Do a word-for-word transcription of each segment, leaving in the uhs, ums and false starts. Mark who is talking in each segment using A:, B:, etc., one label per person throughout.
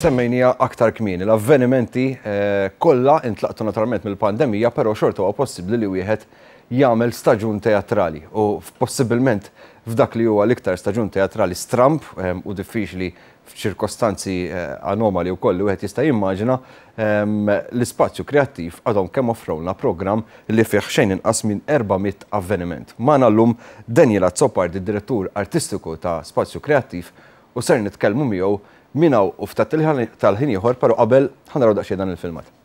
A: Semmejnija aktar kmieni, l-avvenimenti eh, kollha intlaqtu naturalment mill-pandemija, però xorta huwa possibbli li wieħed jagħmel staġun teatrali u possibilment f'dak li huwa l-iktar staġun teatrali stramp eh, u diffiċli f'ċirkostanzi eh, anomali wkoll li wieħed jista' jimmaġina, ehm, l-ispazju kreattiv għadhom kemm offrewlna programm li fih xejn inqas minn erba' mitt avveniment. Magħna llum Daniel Azzopardi, direttur artistiku ta' Spazju Kreattiv, u ser nitkellmu miegħu minn hawn u ftit tal-ħin ieħor, però qabel ħa naraw daqsxejn dan il-filmat.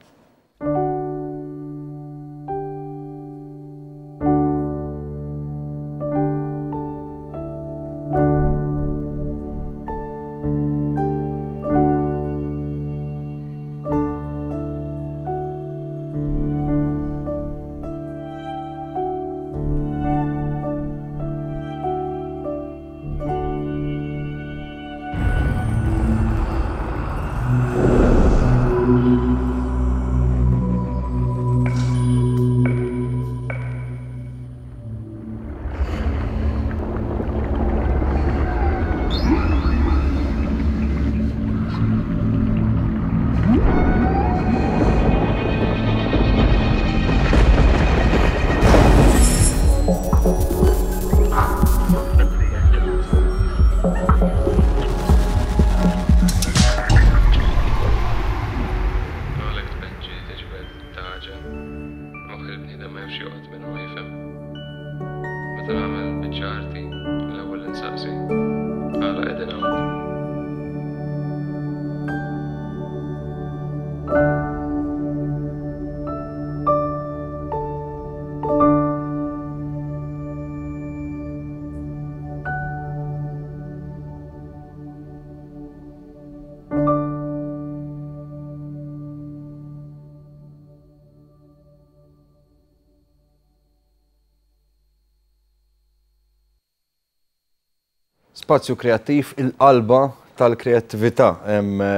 A: Spazju kreattiv, il-qalba tal-kreattività,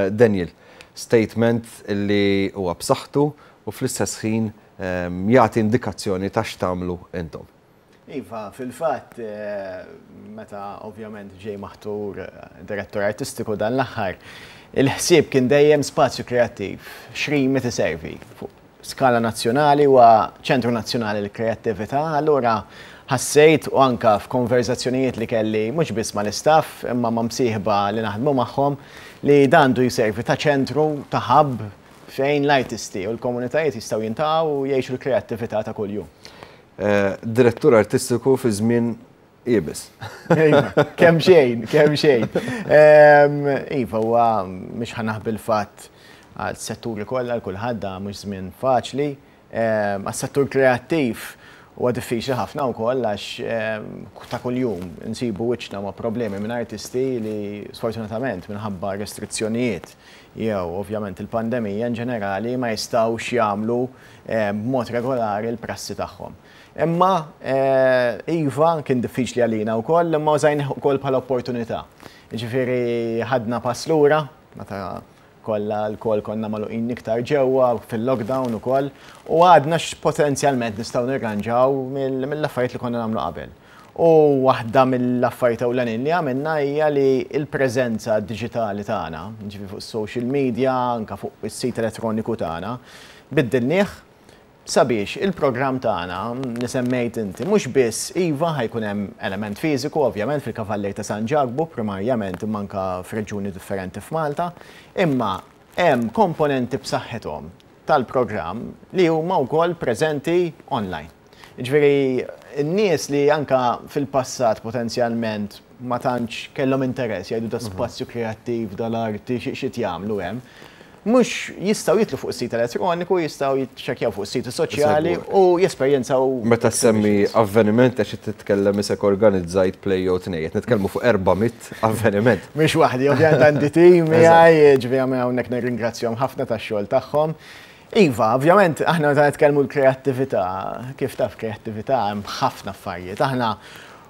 A: Daniel. Statement li huwa b'saħħtu u fl-istess ħin jagħti indikazzjoni ta' x'tagħmlu intom.
B: Iva, fil-fatt, meta ovvjament ġej maħtur direttur artistiku dan l-aħħar, il-ħsieb kien dejjem spazju kreattiv, x'rimi tiservi fuq skala nazzjonali u ċentru nazzjonali l-kreattività, allura ħassejt u anka f'konverzazzjonijiet li kelli mhux biss mal-istaff imma ma' msieħba li naħdmu magħhom li dan għandu jservi ta' ċentru, ta' hub fejn l-artisti u l-komunitajiet jistgħu jintaqgħu u jgħixu l-kreattività ta' kuljum.
A: Direttur artistiku fi żmien iebes.
B: Kemm xejn, kemm xejn. Iva, huwa mhux ħa naħbi l-fatt għal-setturi kollha, għal kulħadd mhux żmien faċli. Għas-settur kreattiv huwa diffiċli ħafna wkoll għax ta' kuljum insibu wiċċna ma' problemi minn artisti li sfortunatament minħabba restrizzjonijiet jew ovvjament il-pandemija in ġenerali ma jistgħux jagħmlu b'mod regolari l-prassi tagħhom. Imma iva kien diffiċli għalina wkoll, imma użajnih ukoll bħala opportunità. Jiġifieri ħadna pass lura meta kollha l-kol konna magħluqin iktar ġewwa fil-lockdown ukoll u għadna x'potenzjalment nistgħu nirranġaw mill-affarijiet li konna nagħmlu qabel. U waħda mill-affarijiet ewlenin li għamilna hija li l-preżenza diġitali tagħna, ġifieri fuq social media, anke fuq is-sit elettroniku tagħna, biddilnieh sabiex il-programm tagħna li semmejt inti mhux biss iva ħajkun hemm element fiżiku ovvjament fil-Kavallier ta' San Ġakbu primarjament imma anke f'reġjuni differenti f'Malta, imma hemm komponenti b'saħħithom tal-programm li huma wkoll preżenti online. Jiġifieri n-nies li anke fil-passat potenzjalment ma tantx kellhom interess jgħidu da spazju kreattiv dal-arti xi jagħmlu hemm, mhux jistgħu jitlu fuq is-sit elettroniku, jistgħu jiċċekkjaw fuq is-siti soċjali u jesperjenzaw.
A: Meta semmi avveniment għax titkellem isek organizzajt play jew tnejn, qed nitkellmu fuq erba' mitt avveniment.
B: Mhux waħdi, ovvjament għandi tim miegħi, ġifieri hawnhekk nirringrazzjahom ħafna tax-xogħol tagħhom. Iva, ovvjament aħna meta nitkellmu l-kreattività, kif taf kreattività hemm ħafna affarijiet. Aħna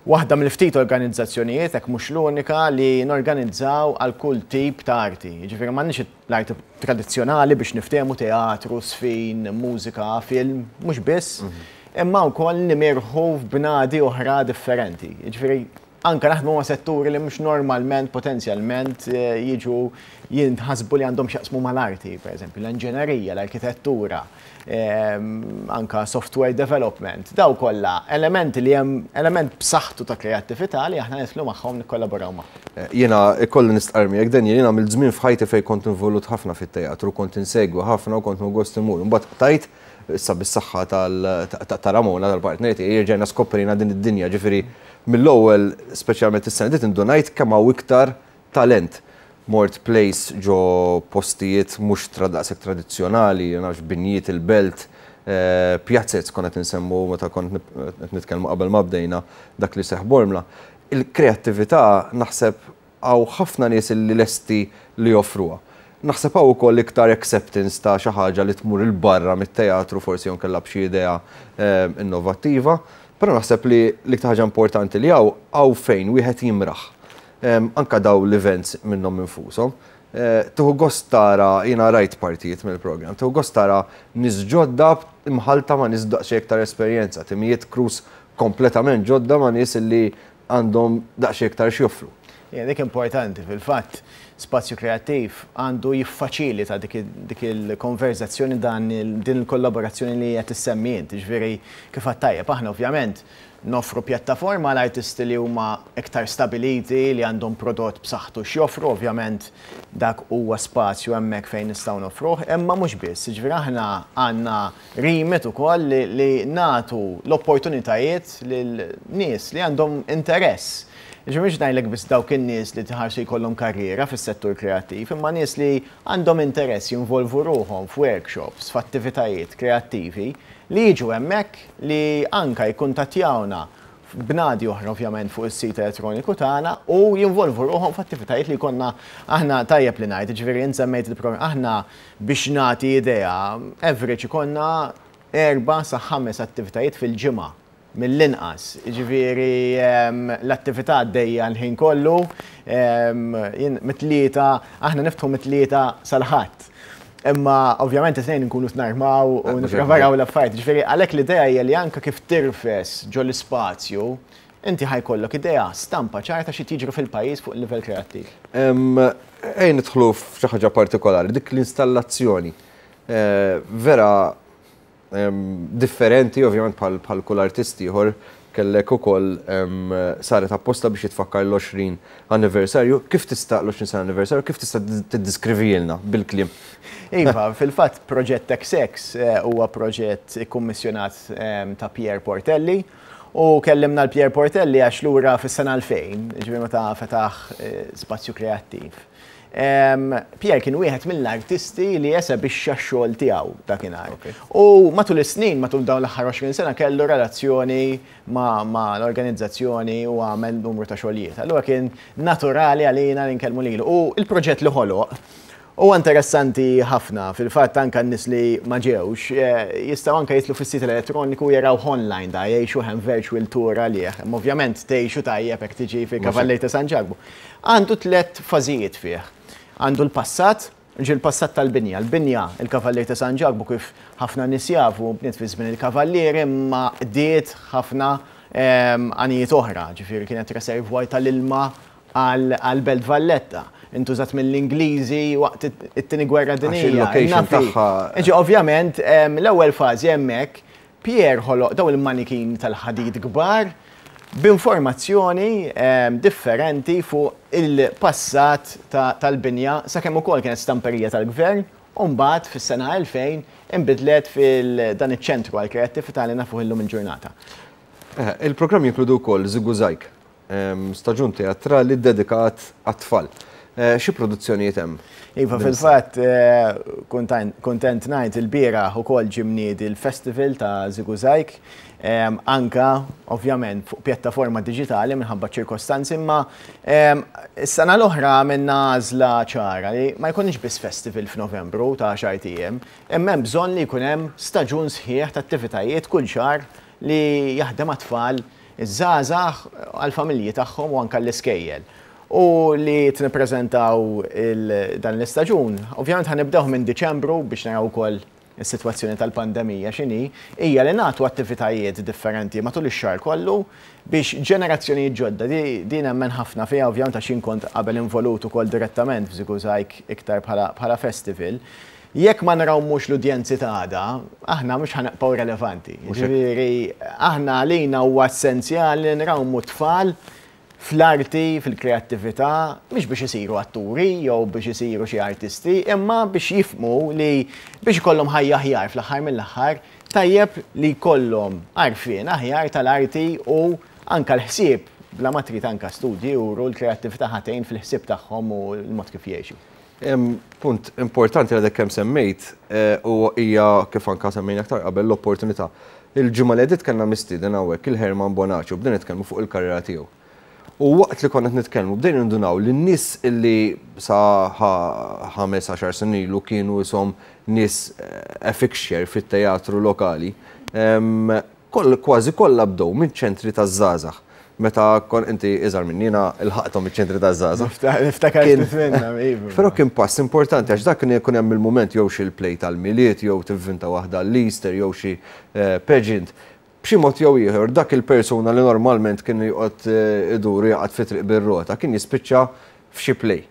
B: waħda mill-ftit organizzazzjonijiet, hekk mhux l-unika, li norganizzaw għal kull tip ta' arti. Jiġifieri m'għandniex l-arti tradizzjonali biex niftehmu teatru, sfin, mużika, film, mhux biss, imma wkoll nimirħu f'bnadi oħra differenti. Jiġifieri Anka naħdmu ma' setturi li mhux normalment potenzjalment jiġu jinħasbu li għandhom x'jaqsmu mal-arti, per eżempju, l-inġenerija, l-arkitettura, anka software development. Daw kollha elementi li hemm element b'saħħtu ta' kreattività li aħna nidħlu magħhom, nikkollaboraw magħhom.
A: Jiena ikolli nistqarr miegħek, Daniel, jiena mill-żmien f'ħajti fejn kont involut ħafna fit-teatru, kont insegwi ħafna u kont gost imur. Imbagħad tajt issa bis-saħħa ta' Ramona, tal-partner tiegħi, rġajna skoprina din id-dinja, ġifieri mill-ewwel, speċjalment is-sena dit, indunajt kemm hawn iktar talent. Mort plays ġo postijiet mhux daqshekk tradizzjonali, nafx, binjiet il-belt, pjazzez konna nsemmu meta kont nitkellmu qabel ma bdejna dak li seħ Bormla. Il-kreattività naħseb hawn ħafna nies li lesti li joffruha. Naħseb hawn ukoll iktar acceptance ta' xi ħaġa li tmur 'il barra mit-teatru, forsi jew kellha b'xi idea innovattiva, però naħseb li l-iktar ħaġa importanti li hawn hawn fejn wieħed jimraħ. Anka daw l-events minnhom infushom. Tieħu gost tara, jiena rajt partijiet mill-programm, tieħu gost tara nies ġodda imħalta ma' nies daqsxejn iktar esperjenza, timijiet crews kompletament ġodda ma' nies li għandhom daqsxejn iktar x'joffru.
B: Ja, dik importanti. Fil-fatt, spazju kreattiv għandu jiffaċilita dik il-konverzazzjoni, dan din il-kollaborazzjoni li qed issemmi int, ġifieri kif tajjeb, aħna ovvjament noffru pjattaforma l-artisti li huma iktar stabiliti, li għandhom prodott b'saħħtu x'joffru, ovvjament dak huwa spazju hemmhekk fejn nistgħu noffruh, imma mhux biss, ġifieri aħna għandna remit ukoll li, li nagħtu l-opportunitajiet lil nies li għandhom interess. Ġifieri mhux ngħidlek biss dawk in-nies li tħarsu jkollhom karriera fis-settur kreattiv, imma nies li għandhom interess jinvolvu ruħhom f'workshops, f'attivitajiet kreattivi, li jiġu hemmhekk, li anka jikkuntattjawna b'nadi oħra, ovvjament fuq is-sit elettroniku tagħna, u jinvolvu ruħhom f'attivitajiet li konna aħna. Tajjeb li ngħid, ġifieri semmejt il-programm, aħna biex nagħti idea, average ikollna erba' sa ħames attivitajiet fil-ġimgħa mill-inqas. Ġifieri l-attività għaddejja l-ħin kollu, mit-Tlieta, aħna niftħu mit-Tlieta sal-Ħadd. Imma ovvjament it-Tnejn nkunu narmaw u nippreparaw l-affarijiet. Ġifieri għalhekk l-idea hija li anke kif tirfes ġo l-ispazju, inti ħa jkollok idea, stampa ċarta xi tiġri fil-pajjiż fuq il-livell kreattiv.
A: Ejn nidħlu f'xi ħaġa partikolari, dik l-installazzjoni. Vera differenti, ovvjament bħal kull artisti ieħor kellek ukoll saret apposta biex jitfakkar l-għoxrin anniversarju. Kif tista' l-għoxrin sena anniversarju, kif tista' tiddeskrivilna bil-kliem?
B: Iva, fil-fatt proġett X X huwa proġett ikkummissjonat ta' Pierre Portelli u kellimna l-Pierre Portelli għax lura fis-sena elfejn, ġifieri meta fetaħ spazju kreattiv, Pierre kien wieħed mill-artisti li esebixxa x-xogħol tiegħu dakinhar. U matul is-snin, matul dawn l-aħħar għoxrin sena, kellu relazzjoni ma' l-organizzazzjoni u għamel numru ta' xogħlijiet. Allura kien naturali għalina li nkellmu lilu. U il-proġett li ħoloq huwa interessanti ħafna. Fil-fatt anka n-nies li ma ġewx jistgħu anka jitilgħu fis-sit elettroniku, jaraw online da, jgħixu hemm virtual tour għalih. Ovvjament tgħixu tajjeb jekk tiġi fil-Kavallieri ta' San Ġakbu. Għandu tliet fażijiet fih. Għandu l-passat, ġi l-passat tal-binja. L-binja, il-Kavallieri ta' San Ġakbu, kif ħafna nies jafu, bniet fi żmien il-Kavallieri, imma qdiet ħafna għanijiet oħra, ġifieri kienet reservoir tal-ilma għal-Belt Valletta. Intużat mill-Ingliżi waqt it-Tieni Gwerra Dinjija. Ġi ovvjament, l-ewwel fażi hemmhekk Pierre ħoloq daw il-manikin tal-ħadid kbar b'informazzjoni differenti fuq il-passat tal-binja, sakemm ukoll kienet stamperija tal-gvern u mbagħad fis-sena elfejn inbidlet fil-dan iċ-ċentru għall-kreattività li nafuh illum il-ġurnata.
A: Il-programm jinkludu wkoll Żigużajg, staġun teatrali dedikat għat-tfal. Xi produzzjonijiet hemm?
B: Iva, fil-fatt, kontent ngħid il-bieraħ ukoll ġie mniedi l-festival ta' Żigużajg, anka ovvjament fuq pjattaforma diġitali minħabba ċirkostanzi, imma is-sena l-oħra għamilna għażla ċara li ma jkunx biss festival f'Novembru ta' għaxart ijiem, imma hemm bżonn li jkun hemm staġun sħiħ ta' attivitajiet kull xahar li jaħdem għat-tfal, iż-żgħażagħ, għall-familji tagħhom u anke l-iskejjel. U li nippreżentaw dan l-istaġun, ovvjament ħa nibdew minn Diċembru biex naraw ukoll is-sitwazzjoni tal-pandemija x'inhi, hija li nagħtu attivitajiet differenti matul ix-xahar kollu biex ġenerazzjonijiet ġodda, din nemmen ħafna fiha, ovvjament għax jien kont qabel involut ukoll direttament f'ŻiguŻajg iktar bħala festival. Jekk ma nrawmux l-udjenzi ta' għada, aħna mhux ħa nibqgħu relevanti. Ġifieri aħna għalina huwa essenzjali li nrawmu tfal fl-arti, fil-kreattività, mhux biex isiru atturi jew biex isiru xi artisti, imma biex jifhmu li biex ikollhom ħajja aħjar fl-aħħar mill-aħħar, tajjeb li jkollhom għarfien aħjar tal-arti u anka l-ħsieb, bla ma trid anka studji juru l-kreattività ħa tgħin fil-ħsieb tagħhom u l-mod kif jgħixu.
A: Punt importanti li kemm semmejt u hija kif anka semmejna aktar qabel l-opportunità. Il-ġimgħa li għaddiet kellna mistieden hawnhekk il-Herman Bonaci u bdejna nitkellmu fuq il-karriera tiegħu. U waqt li konna nitkellmu bdejna nindunaw li n-nies illi sa ħames għaxar snin ilu kienu isom nies a fixture fit-teatru lokali, kważi kollha bdew minn ċentri taż-żgħażagħ. Meta kon inti iżgħar minni jiena ilħaqthom iċ-ċentri taż-żgħażagħ.
B: Niftakar minna, iva.
A: Però kien pass importanti għax dak kien ikun hemm il-mument jew xi l-play tal-Milied jew tivvinta waħda l-Easter jew xi pageant. B'xi mod jew ieħor dak il-persuna li normalment kien joqgħod idur jaqgħod fi triq bir-rota kien jispiċċa f'xi play.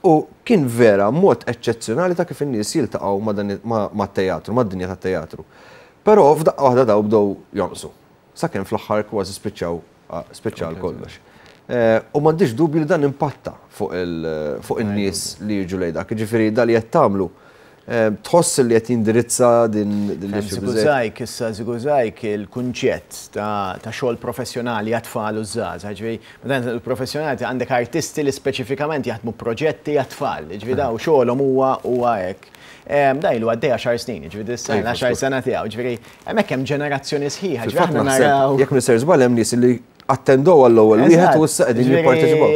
A: U kien vera mod eċċezzjonali ta' kif in-nies jiltaqgħu mat-teatru, mad-dinja tat-teatru. Però f'daqqa waħda daw bdew jonqsu. Sakemm fl-aħħar kważi spiċċaw spiċċa kollox. U m'għandix dubju li dan impatta fuq in-nies li jiġu lejn dak. Jiġifieri da li qed tagħmlu tħoss li qed jindirizza din
B: l-issue. ŻiguŻajg, issa ŻiguŻajg il-kunċett ta' xogħol professjonali għat-tfal u żgħażagħ. Ġifieri, meta il-professjonali għandek artisti li speċifikament jaħdmu proġetti għat-tfal, ġifieri daw xogħolhom huwa huwa hekk. Da ilu għaddej għaxar snin, ġifieri issa għaxar sena tiegħu, ġifieri hemmhekk hemm ġenerazzjoni sħiħa, ġifieri aħna naraw.
A: Jekk m'iniex żball hemm nies li attendow għall-ewwel wieħed u issa qegħdin jipparteċipaw.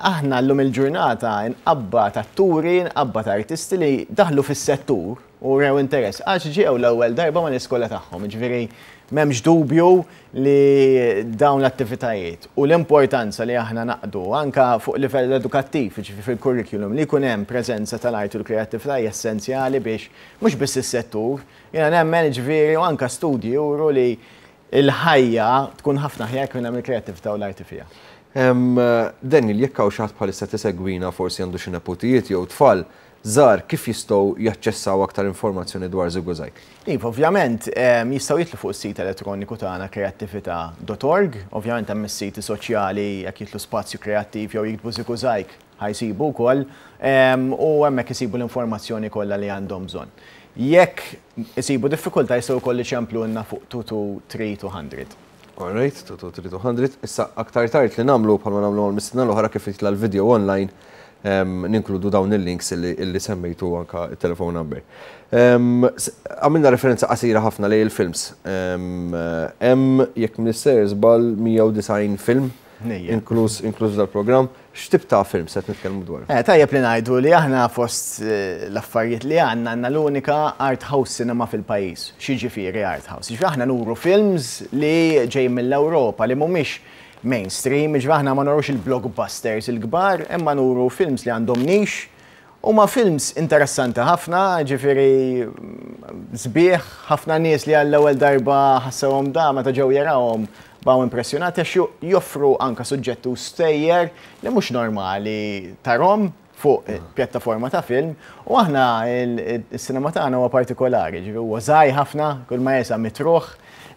B: Aħna llum il-ġurnata nqabbad atturi, nqabbad artisti li daħlu fis-settur u rew interess għax ġew l-ewwel darba mal-iskola tagħhom, ġifieri m'hemmx dubju li dawn l-attivitajiet u l-importanza li aħna naqdu anka fuq livell edukattiv, ġifieri fil-curriculum, li jkun hemm preżenza tal-arti u l-kreattività hija essenzjali biex mhux biss is-settur, jiena nemmen ġifieri u anka studji juru li il-ħajja tkun ħafna aħjar kien hemm il-kreattività u l-arti fiha.
A: Daniel, jekk hawn xi ħadd bħalissa tisegwina forsi għandu xi neputijiet jew tfal żgħar, kif jistgħu jaċċessaw aktar informazzjoni dwar ŻiguŻajg?
B: Iva, ovvjament, jistgħu jidħlu fuq is-sit elettroniku tagħna kreattività dot org, ovvjament hemm is-siti soċjali jekk jidħlu Spazju Kreattiv jew jiktbu ŻiguŻajg ħa jsibu wkoll, u hemmhekk isibu l-informazzjoni kollha li għandhom bżonn. Jekk isibu diffikultà jistgħu wkoll iċemplulna fuq two two three two hundred.
A: All right, two two three two hundred. Issa aktar tard li nagħmlu bħalma nagħmlu mal-mistiedna l-oħra kif jitla' l-video online, ninkludu dawn il-links illi semmejtu anka il-telephone number. Għamilna referenza qasira ħafna lejn il-films. Hemm jekk m'iniex żball mija u disgħin film, inkluż inkluż dal-programm. X'tip ta' film se nitkellmu dwar?
B: Eh, tajjeb li ngħidu li aħna fost, eh, l-affarijiet li għandna, għandna l-unika art house cinema fil-pajjiż. X'jiġifieri art house? Jiġifieri aħna nuru films li ġejjin mill-Ewropa li mhumiex mainstream, jiġifieri aħna ma nurux il-blockbusters il-kbar, imma nuru films li għandhom niche, huma films interessanti ħafna, ġifieri sbieħ, ħafna nies li għall-ewwel darba ħassewhom da meta ġew jarawhom baqgħu impressjonati għax joffru anka suġġetti u stejjer li mhux normali tarahom fuq pjattaforma ta' film, u aħna il-sinema tagħna huwa partikolari, ġifieri huwa żgħir ħafna, kull ma jesa mitruħ,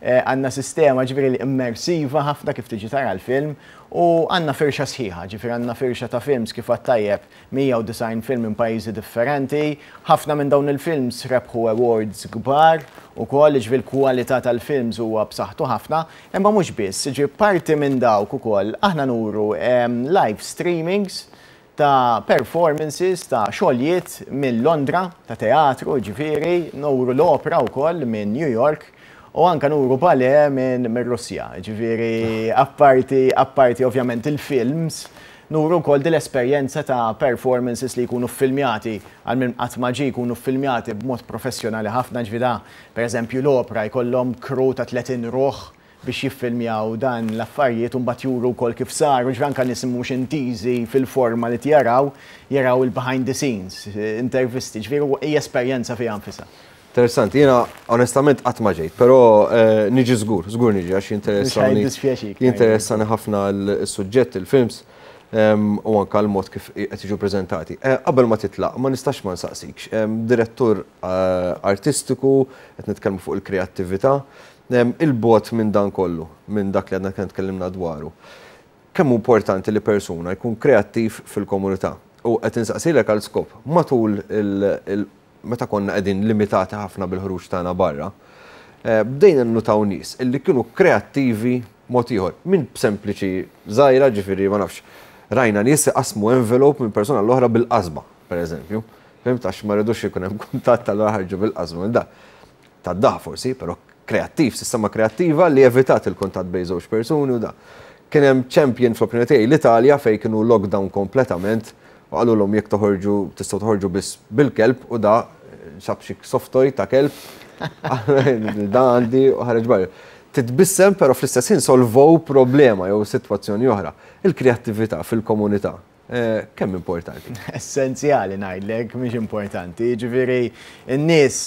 B: eh, għandna sistema ġifieri li immersiva ħafna kif tiġi tara l-film, u għandna firxa sħiħa, ġifieri għandna firxa ta' films kif għat-tajjeb mija u disgħin film minn pajjiżi differenti, ħafna minn dawn il-films rebħu awards kbar ukoll, ġifieri l-kwalità tal-films huwa b'saħħtu ħafna, imma mhux biss, ġifieri parti minn dawk ukoll aħna nuru, em, live streamings ta' performances ta' xogħlijiet minn Londra, ta' teatru, ġifieri, nuru l-opera wkoll minn New York, u anka nuru ballet minn minn Russja, ġifieri, apparti, apparti ovvjament il-films, nuru wkoll din l-esperjenza ta' performances li jkunu filmjati, għal min qatt ma ġie jkunu filmjati b'mod professjonali ħafna, ġifieri da, per eżempju l-opera jkollhom crew ta' tletin ruħ biex jiffilmjaw dan l-affarijiet u mbagħad juru wkoll kif saru, ġifieri anke nies mhux intiżi fil-forma li jaraw, jaraw il-behind the scenes, intervisti, ġifieri hija esperjenza fiha nfisha.
A: Interessanti, jiena onestament qatt ma ġejt, però eh, niġi żgur, żgur niġi għax jinteressani. Jinteressani ħafna l-suġġett, il-films u anka l-mod kif qed jiġu preżentati. Eh, qabel ma titlaq, ma nistax ma nsaqsikx. Direttur eh, artistiku, qed nitkellmu fuq il-kreattività, il-bogħod minn dan kollu, minn dak li għadna kien tkellimna dwaru. Kemm importanti li persuna jkun kreattiv fil-komunità? U qed insaqsilek għal skop, matul il meta konna qegħdin limitati ħafna bil-ħruġ tagħna barra, eh, bdejna nnutaw nies illi kienu kreattivi mod ieħor. Minn sempliċi żgħira, ġifieri ma nafx, rajna nies qasmu envelope minn persuna l-oħra bil-qasba, per eżempju. Fhimt, għax ma rridux ikun hemm kuntatt tal ħarġu bil-qasba minn da. Tad-daħ forsi, però kreattiv, sistema kreattiva li evitat il-kuntatt bejn żewġ persuni u da. Kien hemm champion fl-opinjoni tiegħi l-Italja, fejn kienu lockdown kompletament u qalulhom jekk toħorġu tistgħu toħorġu biss bil-kelb, u da sab xi soft toy ta' kelb, da għandi, u ħareġ barra. Titbissem, però fl-istess ħin solvow problema jew sitwazzjoni oħra. Il-kreattività fil-komunità eh, kemm importanti?
B: Essenzjali ngħidlek, mhix importanti. Ġifieri n-nies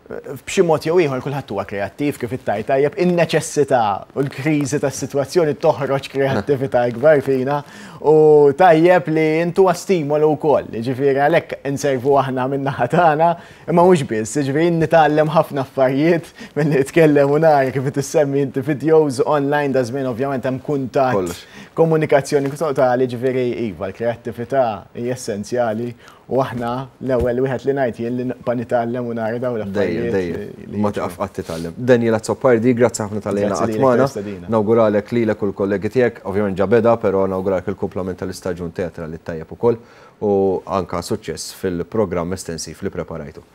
B: b'xi mod jew ieħor kulħadd huwa kreattiv, kif ittajt tajjeb, in-neċessità u l-kriżi tas-sitwazzjoni toħroġ kreattività ikbar fina u tajjeb li intu stimolu wkoll. Ġifieri għalhekk inservu aħna min-naħa tagħna, imma mhux biss, ġifieri nitgħallem ħafna affarijiet milli nitkellem u nara kif tissemmi inti videos online da żmien, ovvjament hemm kuntatt, komunikazzjoni totali, ġifieri iva, l-kreattività hija essenzjali u aħna l-ewwel wieħed li ngħid jien li nibqa' nitgħallem u nara dawn
A: l-affarijiet. Dejjem, ma taqaf qatt titgħallem. Daniel Azzopardi, grazzi ħafna talli qatt magħna. Nawguralek lilek u l-kollegi tiegħek, ovvjament ġa beda, però nawguralek il-kumplament tal-istaġun teatrali tajjeb ukoll u anka suċċess fil-programm estensiv li preparajtu.